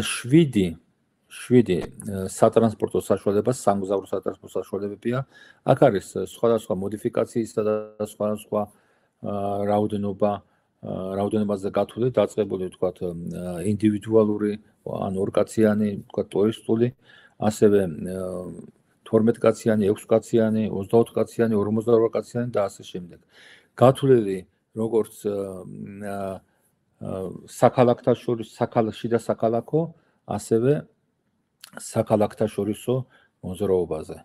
შვიდი შვიდი სატრანსპორტო საშუალება, სამგზავრო სატრანსპორტო საშუალებებია. აქ არის სხვადასხვა მოდიფიკაციისა და სხვადასხვა რაოდენობა, რაოდენობაზე გათვლილი, დაწყებული, ვთქვათ, ინდივიდუალური, ან ორკაციანი, ვთქვათ, ტურისტული, ასევე თორმეტკაციანი, ექვსკაციანი, ოცდაოთხკაციანი, ორმოცდაოთხკაციანი და ასე შემდეგ. გათვლილი როგორც საქალაქთა შორის, შიდა საქალაქო, ასევე საქალაქთა შორისო მოძრაობაზე.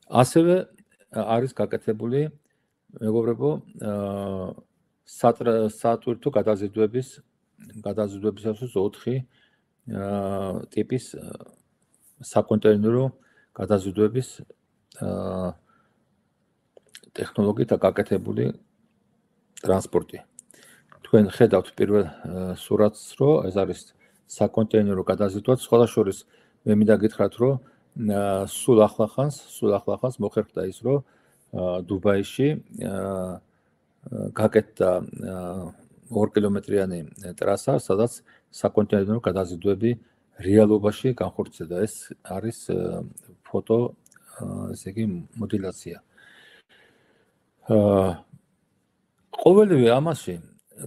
ასევე არის გაკეთებული, მეგობრებო, სატვირთო გადაზიდვების გადაზიდვებისათვის ოთხი ტიპის საკონტეინერო გადაზიდვების ტექნოლოგიით გაკეთებული ტრანსპორტი. თქვენ ხედავთ პირველ სურათს, რომ ეს არის საკონტეინერო გადაზიდვა, სხვა შორის მე მინდა გითხრათ, რომ სულ ახლახანს, სულ ახლახანს მოხერხდა ის, რომ დუბაიში გაკეთდა ორი კილომეტრიანი ტრასა, სადაც საკონტეინერო გადაზიდვები რეალობაში განხორციელდა. ეს არის ფოტო, ესე იგი მოდელაცია. ყოველივე ამაში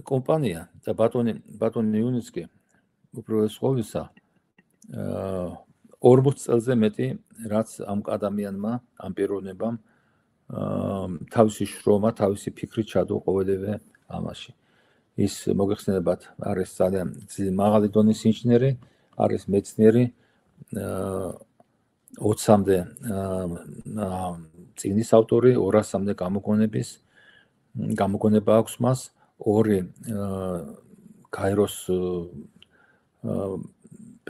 კომპანია და ბატონი ბატონი იუნიცკი უპირველეს ყოვლისა ორმოც წელზე მეტი, რაც ამ ადამიანმა, ამ პიროვნებამ თავისი შრომა, თავისი ფიქრით ჩადო ყოველივე ამაში. ის მოგეხსენებათ, არის ძალიან მაღალი დონის ინჟინერი, არის მეცნიერი, ოცამდე წიგნის ავტორი, ორასამდე გამოგონების გამოგონება აქვს მას, ორი გაეროს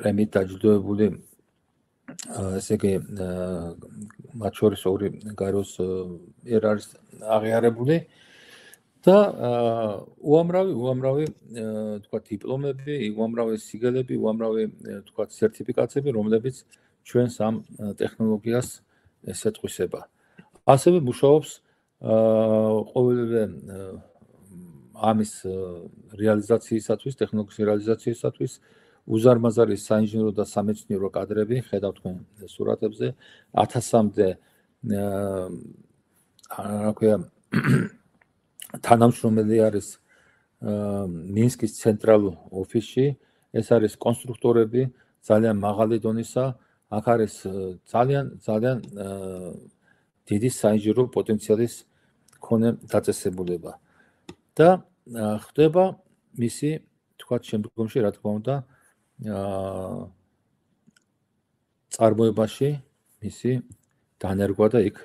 პრემიით დაჯილდოებული, ესე იგი, მათ შორის ორი გაეროს მიერ არის აღიარებული და უამრავი უამრავი თქვა დიპლომები, უამრავი სიგელები, უამრავი თქვა სერტიფიკაციები, რომლებიც ჩვენს ამ ტექნოლოგიას ესეთყვისება. ასევე მუშაობს ყოველივე ამის რეალიზაციისათვის, ტექნოლოგიის რეალიზაციისათვის უზარმაზარი საინჟინრო და სამეცნიერო კადრები, ხედავთ თქვენ სურათებზე, ათასამდე რა ქვია თანამშრომელი არის მინსკის ცენტრალურ ოფისში, ეს არის კონსტრუქტორები, ძალიან მაღალი დონისა, აქ არის ძალიან ძალიან დიდი საინჟინრო პოტენციალის მქონე დაწესებულება. და ხდება მისი, თქვათ, შემდგომში, რა თქმა უნდა, წარმოებაში მისი დანერგვა და იქ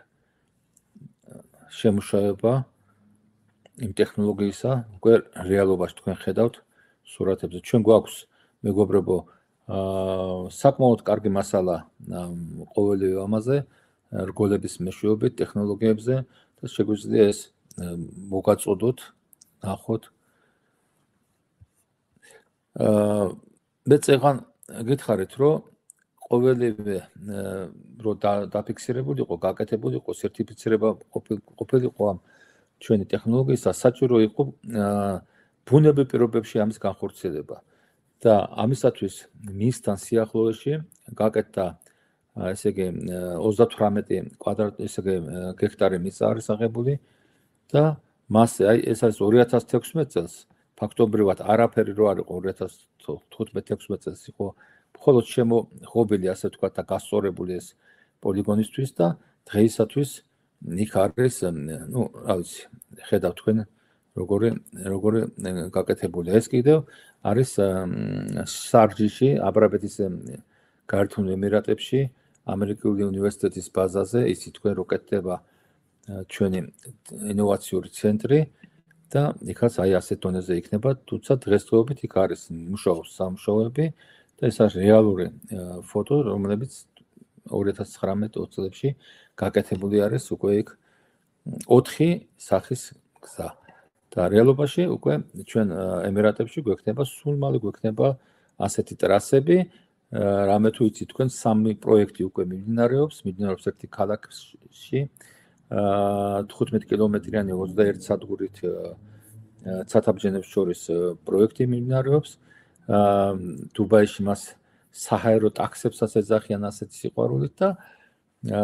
შემუშავება იმ ტექნოლოგიისა უკვე რეალობაში თქვენ ხედავთ სურათებზე. ჩვენ გვაქვს მეგობრებო საკმაოდ კარგი მასალა ყოველივე ამაზე, რგოლების მეშვეობით, ტექნოლოგიებზე და შეგვიძლია ეს მოგაწოდოთ, ნახოთ. მეც ეხან გითხარით, რომ ყოველივე რო დაფიქსირებული იყო, გაკეთებული იყო, სერტიფიცირება ყოფილიყო ამ ჩვენი ტექნოლოგიისა, საჭირო იყო ბუნებრივ პირობებში ამის განხორციელება. და ამისათვის მინსკთან სიახლოვეში გაკეთდა ესე იგი ოცდათვრამეტი კვადრატ ესე იგი გექტარი მიწა არის აღებული და მასე აი ეს არის ორი ათას თექვსმეტ წელს ფაქტობრივად არაფერი რო არ იყო ორი ათას თხუთმეტ ექვსმეტ წელს იყო მხოლოდ შემოღობილი ასე ვთქვათ და გასწორებული ეს პოლიგონისთვის და დღეისათვის იქ არის ნუ რა ვიცი ხედავთ თქვენ როგორი როგორი გაკეთებული ეს კიდევ არის სარჯიში აბრაბეთის გაერთიანებულ ემირატებში ამერიკული უნივერსიტეტის ბაზაზე ისი თქვენ რო კეთდება ჩვენი ინოვაციური ცენტრი და იქაც აი ასეთ დონეზე იქნება თუმცა დღესდღეობით იქ არის მუშაობს სამუშაოები და ეს არის რეალური ფოტო რომლებიც ორი ათას ცხრამეტ ოცი წლებში გაკეთებული არის უკვე იქ ოთხი სახის გზა და რეალობაში უკვე ჩვენ ემირატებში გვექნება სულ მალე გვექნება ასეთი ტრასები რამე თუ იცით თქვენ სამი პროექტი უკვე მიმდინარეობს მიმდინარეობს ერთი ქალაქში თხუთმეტ კილომეტრიანი ოცდაერთი სადგურით ცათაბჯენებს შორის პროექტი მიმდინარეობს დუბაიში მას საჰაერო ტაქსებსაც ეძახიან ასეთი სიყვარულით და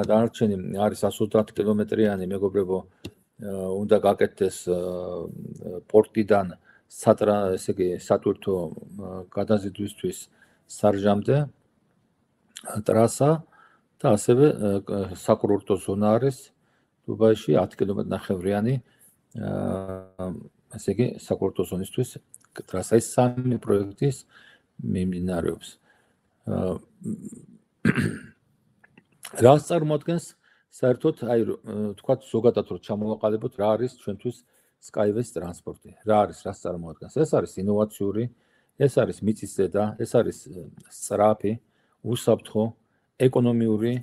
დანარჩენი არის εκατს ოცდაათ კილომეტრიანი მეგობრებო უნდა გაკეთდეს პორტიდან სატრა ესე იგი სატვირთო გადაზიდვისთვის სარჟამდე ტრასა და ასევე საკურორტო ზონა არის დუბაიში ათი კილომეტრი ნახევრიანი ესე იგი საკურორტო ზონისთვის ტრასა ის სამი პროექტის მიმდინარეობს რას წარმოადგენს საერთოდ აი თქვათ ზოგადად რომ ჩამოვაყალიბოთ რა არის ჩვენთვის Skyway ტრანსპორტი რა არის რას წარმოადგენს ეს არის ინოვაციური ეს არის მიწისზედა ეს არის სწრაფი უსაფრთხო ეკონომიური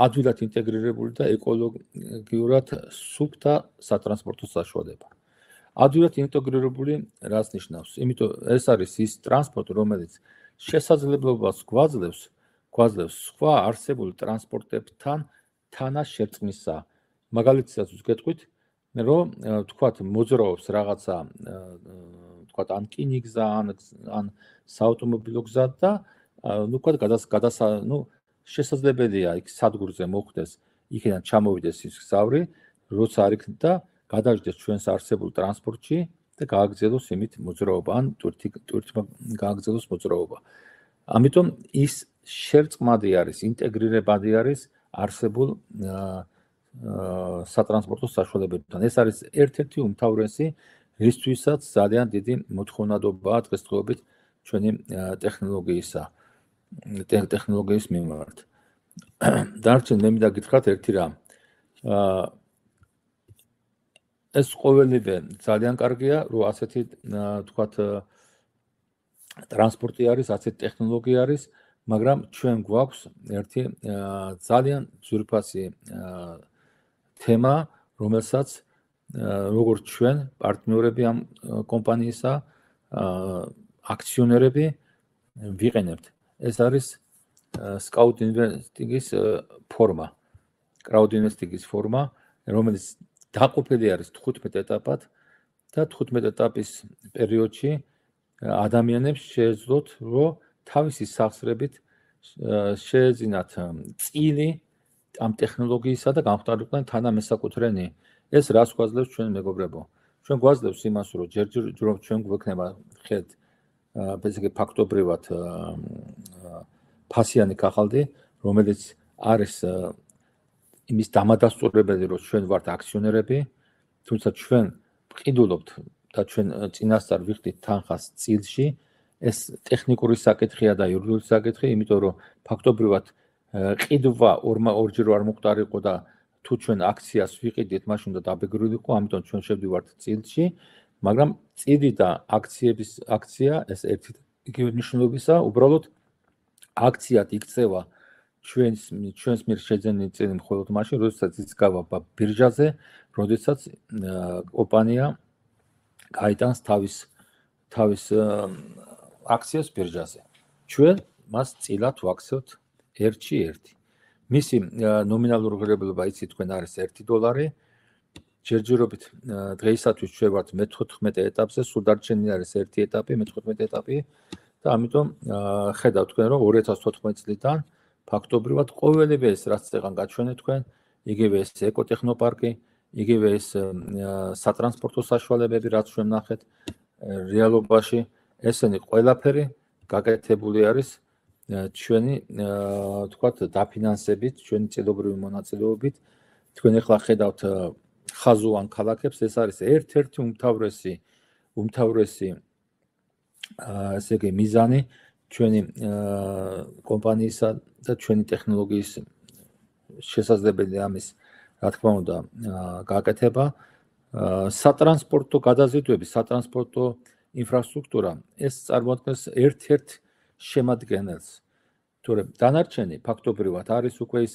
ადვილად ინტეგრირებული და ეკოლოგიურად სუფთა სატრანსპორტო საშუალება ადვილად ინტეგრირებული რას ნიშნავს იმიტომ ეს არის ის ტრანსპორტი რომელიც შესაძლებლობას გვაძლევს გვაძლევს სხვა არსებულ ტრანსპორტებთან თანაშერწყმისა მაგალითად ვგეთყვით რომ თქვათ მოძრაობს რაღაცა თქვათ ან რკინიგზა ან ან საავტომობილო გზა და ნუ თქვათ გადასა ნუ შესაძლებელია იქ სადგურზე მოხვდეს იქიდან ჩამოვიდეს ის გზავრი როცა არ იქნება და გადაждდეს ჩვენს არსებულ ტრანსპორტში და გააგრძელოს იმით მოძრაობა ან თურთი თურთმა გააგრძელოს მოძრაობა ამიტომ ის შერწყმადი არის ინტეგრირებადი არის არსებულ სატრანსპორტო საშუალებებთან. ეს არის ერთ-ერთი უმთავრესი, რისთვისაც ძალიან დიდი მოთხოვნადობაა დღესდღეობით ჩვენი ტექნოლოგიისა, ტექნოლოგიის მიმართ. დარჩენ მე მინდა გითხრათ ერთი რამ. ეს ყოველივე ძალიან კარგია, რომ ასეთი თქვათ ტრანსპორტი არის, ასეთი ტექნოლოგია არის, მაგრამ ჩვენ გვაქვს ერთი ძალიან ძვირფასი თემა, რომელსაც როგორც ჩვენ პარტნიორები ამ კომპანიისა, აქციონერები ვიყენებთ. ეს არის Scout Investing-ის ფორმა, Crowd Investing-ის ფორმა, რომელიც დაყოფილი არის თხუთმეტ ეტაპად და თხუთმეტ ეტაპის პერიოდში ადამიანებს შეეძლოთ, რომ თავისი სახსრებით შეეძინათ წილი ამ ტექნოლოგიისა და გამხდარიყვნენ თანამესაკუთრენი. ეს რას გვაძლევს ჩვენ მეგობრებო? ჩვენ გვაძლევს იმას, რომ ჯერჯერ რომ ჩვენ გვექნება ხედ ესე იგი ფაქტობრივად ფასიანი კახალდი, რომელიც არის იმის დამადასტურებელი, რომ ჩვენ ვართ აქციონერები, თუმცა ჩვენ ვყიდულობთ და ჩვენ წინასწარ ვიხდით თანხას წილში. ეს ტექნიკური საკითხია და იურიდიული საკითხი, იმიტომ რომ ფაქტობრივად ყიდვა ორჯერ არ მოხდარიყო და თუ ჩვენ აქციას ვიყიდით, მაშინ უნდა დაბეგრულიყო, ამიტომ ჩვენ შევდივართ წილში, მაგრამ წილი და აქციების აქცია ეს ერთი იგივე მნიშვნელობისა, უბრალოდ აქციად იქცევა ჩვენს ჩვენს მიერ შეძენილი წილი მხოლოდ მაშინ, როდესაც ის გავაბა ბირჟაზე, როდესაც კომპანია გაიტანს თავის თავის აქციას ბირჟაზე. ჩვენ მას წილად ვაქცევთ ერთში ერთი. მისი ნომინალური ღირებულება იცით თქვენ არის ერთი დოლარი. ჯერჯერობით დღეისათვის ჩვენ ვართ მეთხუთმეტე ეტაპზე, სულ დარჩენილი არის ერთი ეტაპი, მეთხუთმეტე ეტაპი და ამიტომ ხედავთ თქვენ რომ ორი ათას თოთხმეტ წლიდან ფაქტობრივად ყოველივე ეს რაც წეგან გაჩვენეთ თქვენ, იგივე ეს ეკოტექნოპარკი, იგივე ეს სატრანსპორტო საშუალებები რაც ჩვენ ნახეთ რეალობაში, ესენი ყველაფერი გაკეთებული არის ჩვენი თქვათ დაფინანსებით, ჩვენი წელობრივი მონაწილეობით. თქვენ ახლა ხედავთ ხაზოვან ქალაქებს, ეს არის ერთ-ერთი უმთავრესი უმთავრესი ესე იგი მიზანი ჩვენი კომპანიისა და ჩვენი ტექნოლოგიის შესაძლებელი ამის რა თქმა უნდა გაკეთება. სატრანსპორტო გადაზიდვები, სატრანსპორტო ინფრასტრუქტურა ეს წარმოადგენს ერთ-ერთ შემადგენელს. თორემ დანარჩენი ფაქტობრივად არის უკვე ის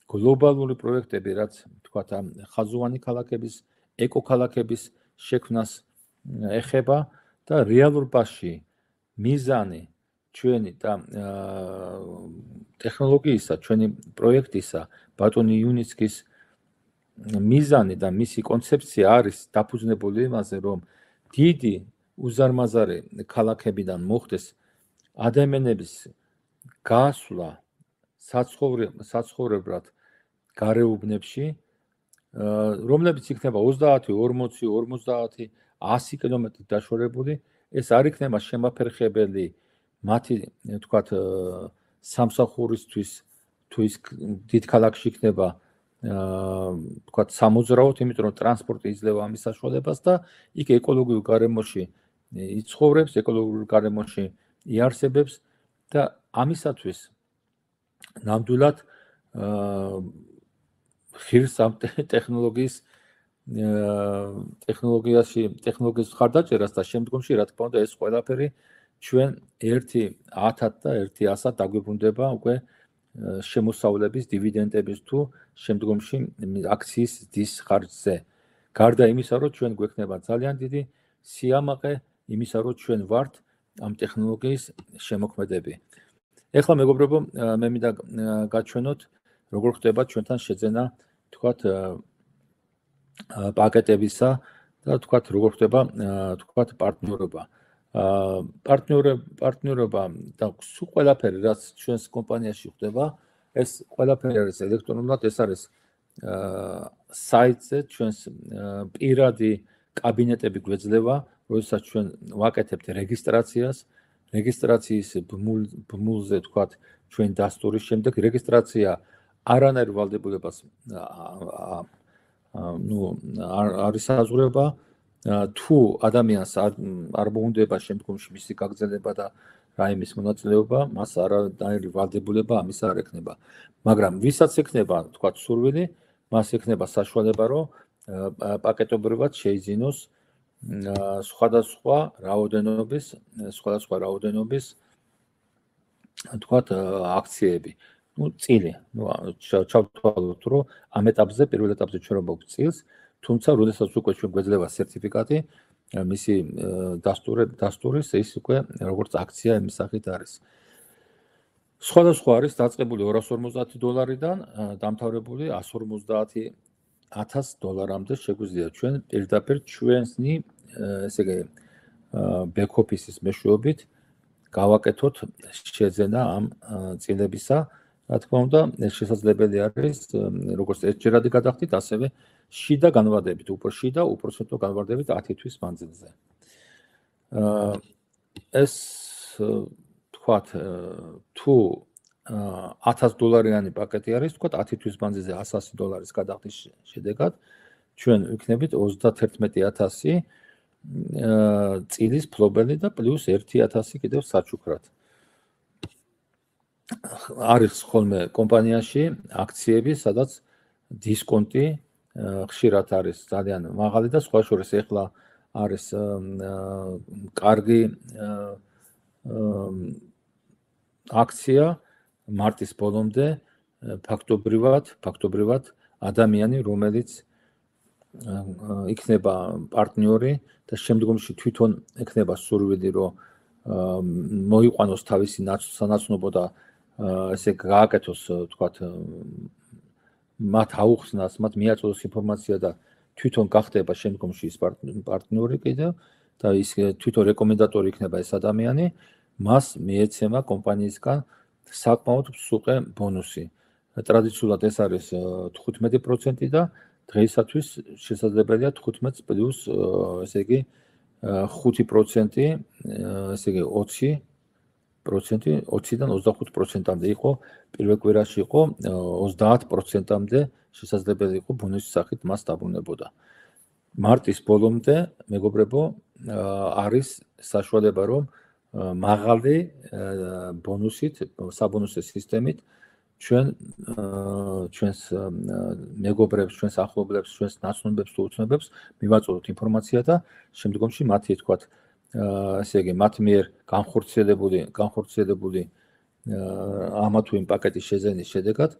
გლობალური პროექტები, რაც თქვათ ამ ხაზოვანი ქალაქების, ეკოქალაქების შექმნას ეხება და რეალურობაში მიზანი ჩვენი და ტექნოლოგიისა, ჩვენი პროექტისა, ბატონი იუნიცკის მიზანი და მისი კონცეფცია არის დაფუძნებული იმაზე, რომ დიდი უზარმაზარი ქალაქებიდან მოხდეს ადამიანების გასვლა საცხოვრებლად გარეუბნებში, რომლებიც იქნება ოცდაათი, ორმოცი, ორმოცდაათი, ასი კილომეტრით დაშორებული, ეს არ იქნება შემაფერხებელი მათი თქვათ სამსახურისთვის, თუ ის დიდ ქალაქში იქნება თქვათ სამოძრაოდ, იმიტომ რომ ტრანსპორტი იძლევა ამის საშუალებას და იქ ეკოლოგიურ გარემოში იცხოვრებს, ეკოლოგიურ გარემოში იარსებებს და ამისათვის ნამდვილად ხირს ამ ტექნოლოგიის ტექნოლოგიაში ტექნოლოგიის ხარდაჭერას და შემდგომში რა თქმა უნდა ეს ყველაფერი ჩვენ ერთი ათად და ერთი ასად დაგვიბრუნდება უკვე შემოსავლების დივიდენდების თუ შემდგომში აქციის დის ხარჯზე. გარდა იმისა, რომ ჩვენ გვექნება ძალიან დიდი სიამაყე იმისა, რომ ჩვენ ვართ ამ ტექნოლოგიის შემოქმედები. ეხლა მეგობრებო, მე მინდა გაჩვენოთ, როგორ ხდება ჩვენთან შეძენა, თქვათ, პაკეტებისა და თქვათ, როგორ ხდება, თქვათ, პარტნიორობა. პარტნიორობა და სულ ყველაფერი, რაც ჩვენს კომპანიაში ხდება, ეს ყველაფერი არის ელექტრონულად, ეს არის საიტზე ჩვენს პირადი კაბინეტები გვეძლევა, როდესაც ჩვენ ვაკეთებთ რეგისტრაციას, რეგისტრაციის ბმულზე თქვათ ჩვენ დასტურის შემდეგ რეგისტრაცია არანაირ ვალდებულებას ნუ არის საზღვრება თუ ადამიანს არ მოუნდება შემდგომში მისი გაგრძელება და რაიმის მონაწილეობა, მას არანაირი ვალდებულება ამის არ ექნება. მაგრამ ვისაც ექნება, თქვა სურვილი, მას ექნება საშუალება, რომ პაკეტობრივად შეიძინოს სხვადასხვა რაოდენობის, სხვადასხვა რაოდენობის თქვა აქციები. ნუ წილი, ნუ ჩავთვალოთ, რომ ამ ეტაპზე, პირველ ეტაპზე ჩვენ მოგვწ წილს, თუმცა როდესაც უკვე ჩვენ გვეძლება სერტიფიკატი, მისი დასტური დასტურის ის უკვე როგორც აქცია იმის სახით არის. სხვადასხვა არის დაწყებული ორას ორმოცდაათი დოლარიდან დამთავრებული εκατს ორმოცდაათი ათას დოლარამდე შეგვიძლია ჩვენ პირდაპირ ჩვენი ესე იგი back office-ის მეშვეობით გავაკეთოთ შეძენა ამ წილებისა. რა თქმა უნდა, ეს შესაძლებელი არის როგორც ერთჯერადი გადახდით, ასევე შიდა განვარდებით, უფრო შიდა, უპროცენტო განვარდებით ათი თვის მანძილზე. ეს თქვათ, თუ ათას დოლარიანი პაკეტი არის, თქვათ ათი თვის მანძილზე ასი დოლარის გადახდის შედეგად, ჩვენ ვიქნებით ოცდათერთმეტი ათასი წილის ფლობელი და პლუს ერთი ათასი კიდევ საჩუქრად. არის ხოლმე კომპანიაში აქციები, სადაც დისკონტი ხშირად არის ძალიან მაღალი და სხვა შორის ეხლა არის კარგი აქცია მარტის ბოლომდე ფაქტობრივად, ფაქტობრივად ადამიანი, რომელიც იქნება პარტნიორი და შემდგომში თვითონ ექნება სურვილი, რომ მოიყვანოს თავისი სანაცნობო და ესე გააკეთოს, თქვათ, მათ აუხსნას, მათ მიაწოდოს ინფორმაცია და თვითონ გახდება შემდგომში ის პარტნიორი კიდევ და ის თვითონ რეკომენდატორი იქნება ეს ადამიანი, მას მიეცემა კომპანიისგან საკმაოდ მსუყე ბონუსი. ტრადიციულად ეს არის თხუთმეტი პროცენტი და დღეისათვის შესაძლებელია თხუთმეტ პლუს ესე იგი ხუთი პროცენტი, ესე იგი ოცი პროცენტი, ოციდან ოცდახუთ პროცენტამდე იყო, პირველ კვირაში იყო ოცდაათ პროცენტამდე შესაძლებელი იყო ბონუსის სახით მას დაბრუნებოდა. მარტის ბოლომდე, მეგობრებო, არის საშუალება, რომ მაღალი ბონუსით, საბონუსო სისტემით ჩვენ ჩვენს მეგობრებს, ჩვენს ახლობლებს, ჩვენს ნაცნობებს თუ უცნობებს მივაწოდოთ ინფორმაცია და შემდგომში მათი თქვათ ესე იგი მათ მიერ განხორციელებული განხორციელებული ამა თუ იმ პაკეტის შეძენის შედეგად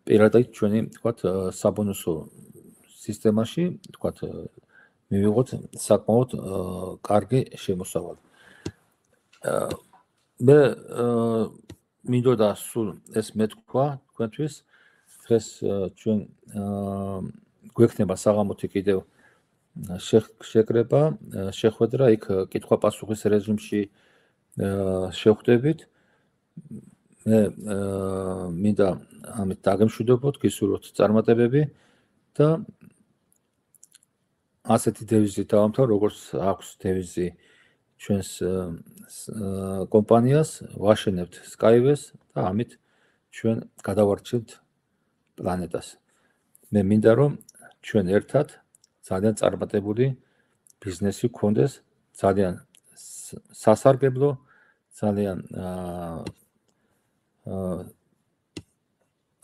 პირადად ჩვენი თქვათ საბონუსო სისტემაში თქვათ მივიღოთ საკმაოდ კარგი შემოსავალი. მე მინდოდა სულ ეს მეთქვა თქვენთვის, დღეს ჩვენ გვექნება საღამოთი კიდევ შეკრება, შეხვედრა იქ კითხვა-პასუხის რეჟიმში შევხვდებით. მე მინდა ამით დაგემშვიდობოთ, გისურვოთ წარმატებები და ასეთი დევიზით დავამთავრ, როგორც აქვს დევიზი ჩვენს კომპანიას, ვაშენებთ Skyway-ს და ამით ჩვენ გადავარჩევთ პლანეტას. მე მინდა რომ ჩვენ ერთად ძალიან წარმატებული ბიზნესი გქონდეს, ძალიან სასარგებლო, ძალიან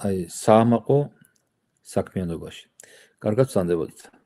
აი საამაყო საქმიანობაში. კარგად ვსანდებოდით.